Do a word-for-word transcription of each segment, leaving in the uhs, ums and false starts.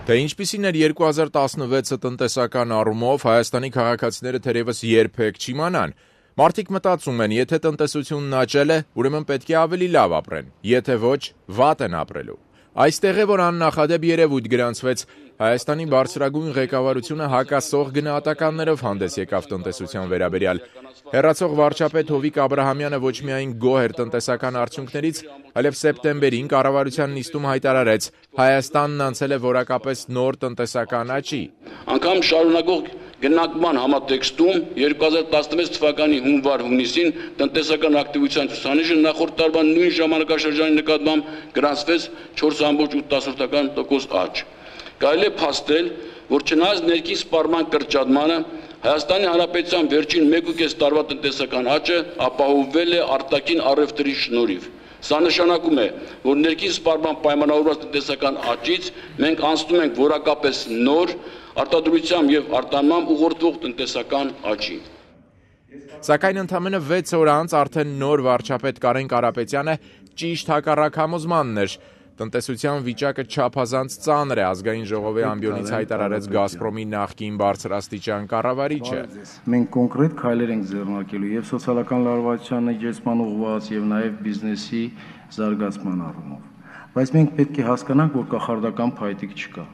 Թե ինչպիսին էր երկու հազար տասնվեցը տնտեսական առումով, Հայաստանի քաղաքացիները թերևս երբեք չիմանան։ Մարդիկ մտածում են, եթե տնտեսությունն աճել է, ուրեմն պետք է ավելի լավ ապրեն, եթե ոչ, վատ են ապրելու։ Այստեղ է, որ աննախադեպ երևույթ գրանցվեց, Հայաստանի բարձրագույն ղեկավարությունը հակասող գնահատականներով հանդես եկավ տնտեսության վերաբերյալ։ Հեռացող վարչապետ Հովիկ Աբրահամյանը ոչ միայն գոհ էր տնտեսական արդյունքներից, այլև սեպտեմբերին կառավարության նիստում հայտարարեց, Հայաստանն անցել է որակապես նոր տնտեսական աճի։ Անգամ շարունակող գնանկման համատեքստում երկու հազար տասնվեց թվականի հունվար-հունիսին տնտեսական ակտիվության ցուցանիշը նախորդ տարվա նույն ժամանակաշրջանի նկատմամբ գրանցվեց չորս կόμma ութ տոկոս աճ։ Կարելի է փաստել, որ չնայած ներքին սպառման կրճատմանը, Հայաստանի Հանրապետության վերջին մեկ ու կես տարվա տնտեսական աճը ապահովվել է արտաքին առևտրի շնորհիվ։ Սա նշանակում է, որ ներքին սպառման պայմանավորված տնտեսական աճից մենք անցնում ենք որակապես նոր արտադրությամբ եւ արտանմամբ ուղղորդվող տնտեսական աճի։ Սակայն ընդամենը վեց օր անց արդեն նոր վարչապետ Կարեն Կարապետյանը ճիշտ հակառակ համոզմանն էր։ Տնտեսության վիճակը չափազանց ծանր է, ազգային ժողովի ամբիոնից հայտարարեց Գազպրոմի նախկին բարձրաստիճան կառավարիչը։ Մենք կոնկրետ քայլեր ենք ձեռնարկելու եւ սոցիալական լարվածության նվազման ուղղված եւ նաեւ բիզնեսի զարգացման առումով։ Բայց մենք պետք է հասկանանք, որ կախարդական փայտիկ չկա։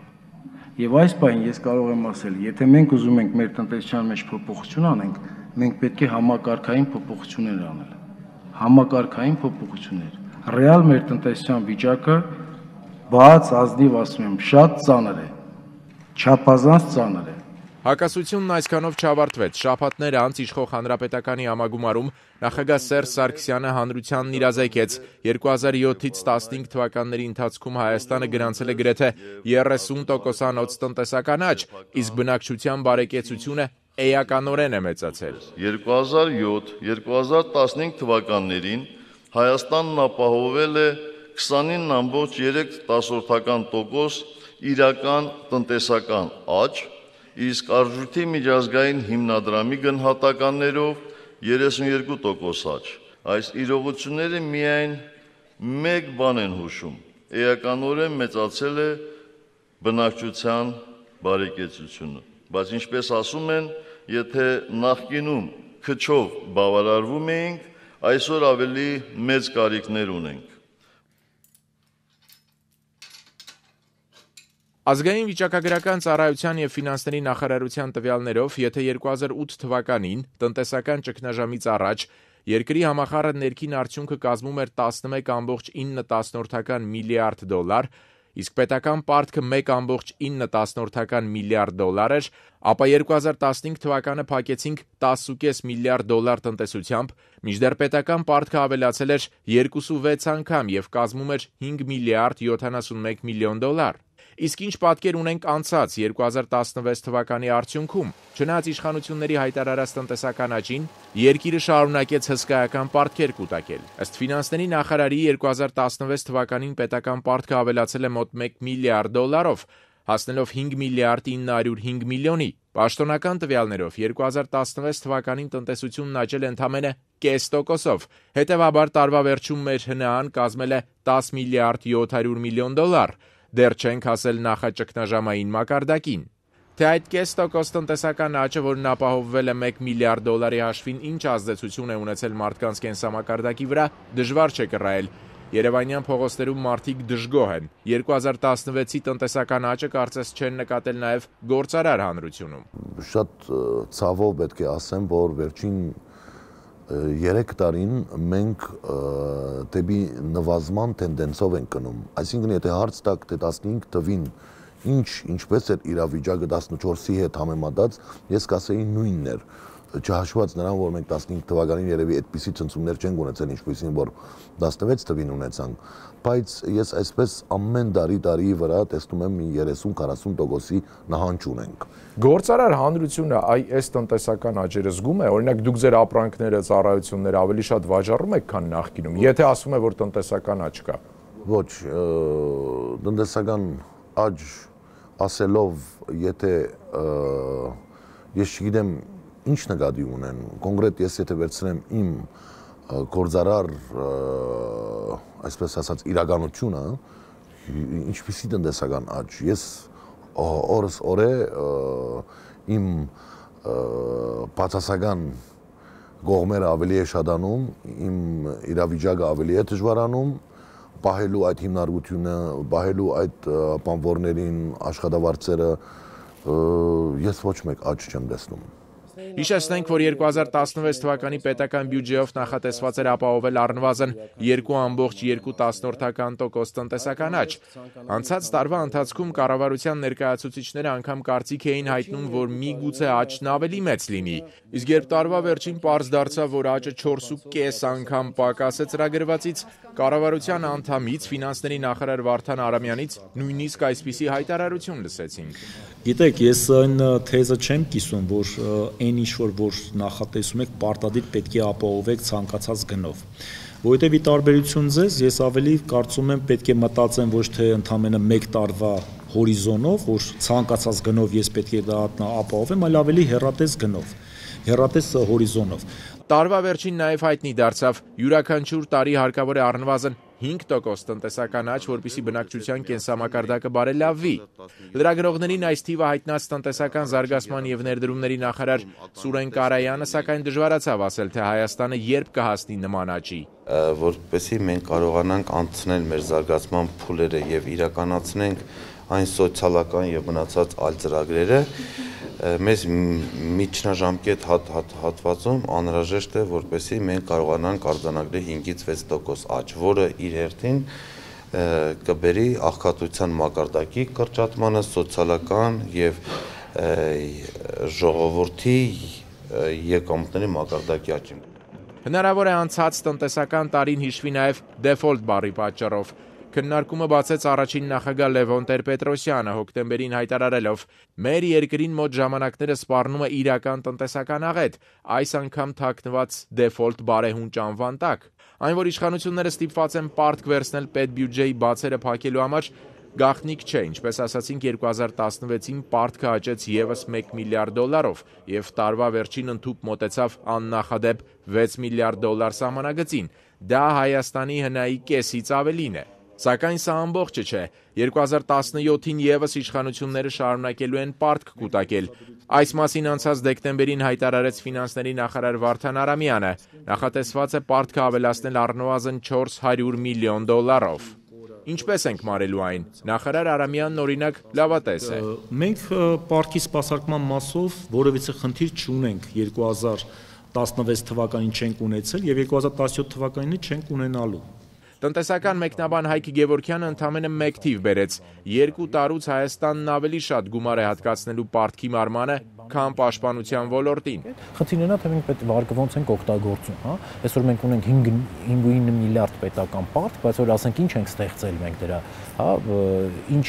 Եվ այս պահին ես կարող եմ ասել, եթե մենք ուզում ենք մեր տնտեսության մեջ փոփոխություն անենք, մենք պետք է համակարգային փոփոխություններ անել։ Համակարգային փոփոխություններ։ Ռեալ մեր տնտեսության վիճակը բաց ազնիվ ասում եմ, շատ ծանր է, չափազանց ծանր է։ Հակասությունն այսքանով չավարտվեց։ Շաբաթներ անց իշխող Հանրապետականի համագումարում նախագահ Սերժ Սարգսյանը հանրությանն իրազեկեց երկու հազար յոթից տասնհինգ թվականների ընթացքում Հայաստանը գրանցել է գրեթե երեսուն տոկոսանոց տնտեսական աճ, իսկ բնակչության բարեկեցությունը էականորեն է մեծացել։ երկու հազար յոթ երկու հազար տասնհինգ թվականներին Հայաստանն ապահովել է քսանինը կόμμα երեք տոկոս իրական տնտեսական աճ, իսկ արժույթի միջազգային հիմնադրամի գնահատականներով երեսունյոթ տոկոս աճ։ Այս իրողությունները միայն մեկ բան են հուշում. էականորեն մեծացել է բնակչության բարեկեցությունը։ Բայց ինչպես ասում են, եթե նախկինում քչով բավարարվում էինք, այսօր ավելի մեծ կարիքներ ունենք։ Ազգային վիճակագրական ծառայության եւ ֆինանսների նախարարության տվյալներով, եթե երկու հազար ութ թվականին տնտեսական ճգնաժամից առաջ երկրի համախառն ներքին արդյունքը կազմում էր տասնմեկ կόμma ինը միլիարդ դոլար, իսկ պետական պարտքը մեկ կόμma ինը միլիարդ դոլար էր, ապա երկու հազար տասնհինգ թվականը փակեցինք տասը կόμma պենս միլիարդ դոլար տնտեսությամբ, մինչդեռ պետական պարտքը ավելացել էր երկուսուվեց անգամ եւ կազմում էր հինգ միլիարդ յոթանասունմեկ միլիոն դոլար։ Իսկ ինչ պատկեր ունենք անցած երկու հազար տասնվեց թվականի արդյունքում, չնայած իշխանությունների հայտարարած տնտեսական աճին, երկիրը շարունակեց հսկայական պարտքեր կուտակել։ Ըստ ֆինանսների նախարարի երկու հազար տասնվեց թվականին պետական պարտքը ավելացել է մոտ մեկ միլիարդ դոլարով, հասնելով հինգ միլիարդ ինը հարյուր հինգ միլիոնի։ Պաշտոնական տվյալներով երկու հազար տասնվեց թվականին տնտեսությունն աճել է ընդամենը կես տոկոսով, հետևաբար տարվա վերջում մեր ՀՆԱ-ն կազմել է տասը միլիարդ յոթ հարյուր միլիոն դոլար։ Դեռ չենք հասել նախաճգնաժամային մակարդակին։ Թե այդ կես տոկոս տնտեսական աճը, որն ապահովվել է մեկ միլիարդ դոլարի հաշվին, ինչ ազդեցություն է ունեցել մարդկանց կենսամակարդակի վրա, դժվար չէ կռահել։ Երևանյան փողոցներում մարդիկ դժգոհ են։ երկու հազար տասնվեցի տնտեսական աճը կարծես չեն նկատել նաև գործարար հանրությունում։ Շատ ցավով պետք է ասեմ, որ վերջին երեք տարին մենք դեպի նվազման տենդենսով ենք գնում։ Այսինքն, եթե հարց տաք, թե տասնհինգ թվին ինչ ինչպես էր իրավիճակը տասնչորսի հետ համեմատած, ես կասեի նույնն էր, չհաշված նրան, որ մենք տասնհինգ թվականին երևի այդպիսի ցնցումներ չենք ունեցել, ինչպիսին որ տասնվեց թվին ունեցանք, բայց ես այսպես ամեն տարի տարի վրա տեսնում եմ երեսուն քառասուն տոկոսի նահանջ ունենք։ Գործարար հանրությունը այս տնտեսական աճերը զգում է, օրինակ դուք ձեր ապրանքները, ծառայությունները ավելի շատ վաճառում եք, քան նախկինում, եթե ասում է, որ տնտեսական աճ կա։ Ոչ, տնտեսական աճ ասելով, եթե ես չգիտեմ ինչ նկատի ունեն, կոնկրետ ես եթե վերցնեմ իմ գործարար, այսպես ասած, իրականությունը, ինչպիսի տնտեսական աճ, ես օրս օրե իմ բացասական կողմերը ավելի է շատանում, իմ իրավիճակը ավելի է դժվարանում, պահելու այդ հիմնարկությունը, պահելու այդ բանվորներին, աշխատավարձերը ես ոչ մեկ աճ չեմ տեսնում։ Հիշեցնենք, որ երկու հազար տասնվեց թվականի պետական բյուջեով նախատեսված էր ապահովել առնվազն երկու ամբողջ երկու տասնորդական տոկոս տնտեսական աճ։ Անցած տարվա ընթացքում կառավարության ներկայացուցիչները անգամ կարծիք էին հայտնում, որ միգուցե աճն ավելի մեծ լինի, իսկ երբ տարվա վերջին պարզ դարձավ, որ աճը չորս ու կես անգամ պակաս է ծրագրվածից, կառավարության անդամից ֆինանսների նախարար Վարդան Արամյանից նույնիսկ այսպիսի հայտարարություն լսեցինք։ Գիտեք, ես այն թեզը չեմ կիսում, որ այն ինչ-որ որ նախատեսում եք պարտադիր պետք է ապահովեք ցանկացած գնով։ Որովհետև ի տարբերություն ձեզ, ես ավելի կարծում եմ պետք է մտածեմ ոչ թե ընդամենը մեկ տարվա հորիզոնով, որ ցանկացած գնով ես պետք է դա ապահովեմ, այլ ավելի հեռատես գնով, հեռատես հորիզոնով։ Տարվա վերջին նաև հայտնի դարձավ, յուրաքանչյուր տարի հարկավոր է առնվազն հինգ տոկոս տնտեսական աճ, որպեսզի բնակչության կենսամակարդակը բարելավվի։ Լրագրողներին այս թիվը հայտնած տնտեսական զարգացման և ներդրումների նախարար Սուրեն Կարայանը սակայն դժվարացավ ասել, թե Հայաստանը երբ կհասնի նման աճի։ Որպեսզի մենք կարողանանք անցնել մեր զարգացման փուլերը և իրականացնենք այն սոցիալական և մնացած այլ ծրագրերը, մեզ միջնաժամկետ հատվածում անհրաժեշտ է, որպեսզի մենք կարողանանք արձանագրել հինգից վեց տոկոս աճ, որը իր հերթին կբերի աղքատության մակարդակի կրճատմանը, սոցիալական և ժողովրդի եկամուտների մակարդակի աճին։ Հնարավոր է անցած տնտեսական տարին հիշվի նաև դեֆոլտ բառի պատճառով։ Քննարկումը բացեց առաջին նախագահ Լևոն Տեր-Պետրոսյանը հոկտեմբերին հայտարարելով. «Մեր երկրին մոտ ժամանակները սպառնում է իրական տնտեսական աղետ, այս անգամ թաքնված դեֆոլտ բարեհունճ անվան տակ»։ Այն, որ իշխանությունները ստիպված են պարտք վերցնել պետբյուջեի բացերը փակելու համար, գաղտնիք չէ, ինչպես ասացինք երկու հազար տասնվեցին պարտքը աճեց ևս մեկ միլիարդ դոլարով և տարվա վերջին ընդհուպ մոտեցավ աննախադեպ վեց միլիարդ դոլար սահմանագծին։ Դա Հայաստանի հնայի կեսից ավելին է։ Սակայն սա ամբողջը չէ։ երկու հազար տասնյոթին ևս իշխանությունները շարունակելու են պարտք կուտակել։ Այս մասին անցած դեկտեմբերին հայտարարեց ֆինանսների նախարար Վարդան Արամյանը։ Նախատեսված է պարտքը ավելացնել առնվազն չորս հարյուր միլիոն դոլարով։ Ինչպես ենք մարելու այն։ Նախարար Արամյանն օրինակ լավատես է։ Մենք պարտքի սպասարկման մասով որևիցե խնդիր չունենք, երկու հազար տասնվեց թվականին չենք ունեցել և երկու հազար տասնյոթ թվականին չենք ունենալու։ Տնտեսական մեկնաբան Հայկ Գևորգյանը ընդամենը մեկ թիվ բերեց. երկու տարուց Հայաստանն ավելի շատ գումար է հատկացնելու պարտքի մարմանը, քան պաշտպանության ոլորտին։ Խնդիրն է, թե մենք պետք վարկը ոնց ենք օգտագործում, հա։ Այսօր մենք ունենք հինգ միլիարդ պետական պարտք, բայց որ ասենք ինչ ենք ստեղծել մենք դրա, հա, ինչ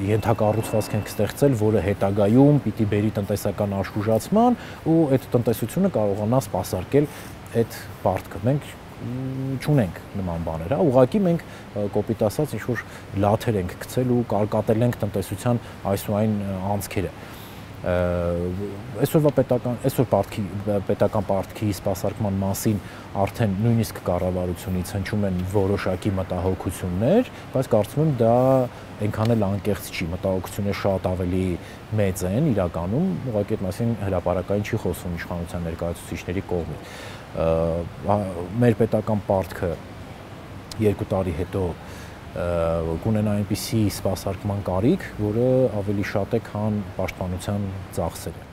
ենթակառուցվածք ենք ստեղծել, որը հետագայում պիտի բերի տնտեսական աշխուժացման ու այդ տնտեսությունը կարողանա սպասարկել այդ պարտքը։ Մենք չունենք նման բաներ, հա, ուղղակի մենք կոպիտ ասած ինչ-որ լաթեր ենք գցել ու կարկատել ենք տնտեսության այս ու այն անցքերը։ Այսօրվա պետական, այսօր պարտքի, պետական պարտքի սպասարկման մասին արդեն նույնիսկ կառավարությունից հնչում են որոշակի մտահոգություններ, բայց կարծում եմ դա այնքան էլ անկեղծ չի, մտահոգությունները շատ ավելի մեծ են իրականում, ուղղակի այդ մասին հրապարակային չի խոսվում իշխանության ներկայացուցիչների կողմից։ Մեր պետական պարտքը երկու տարի հետո կունենա այնպիսի սպասարկման կարիք, որը ավելի շատ է, քան պաշտպանության ծախսերը։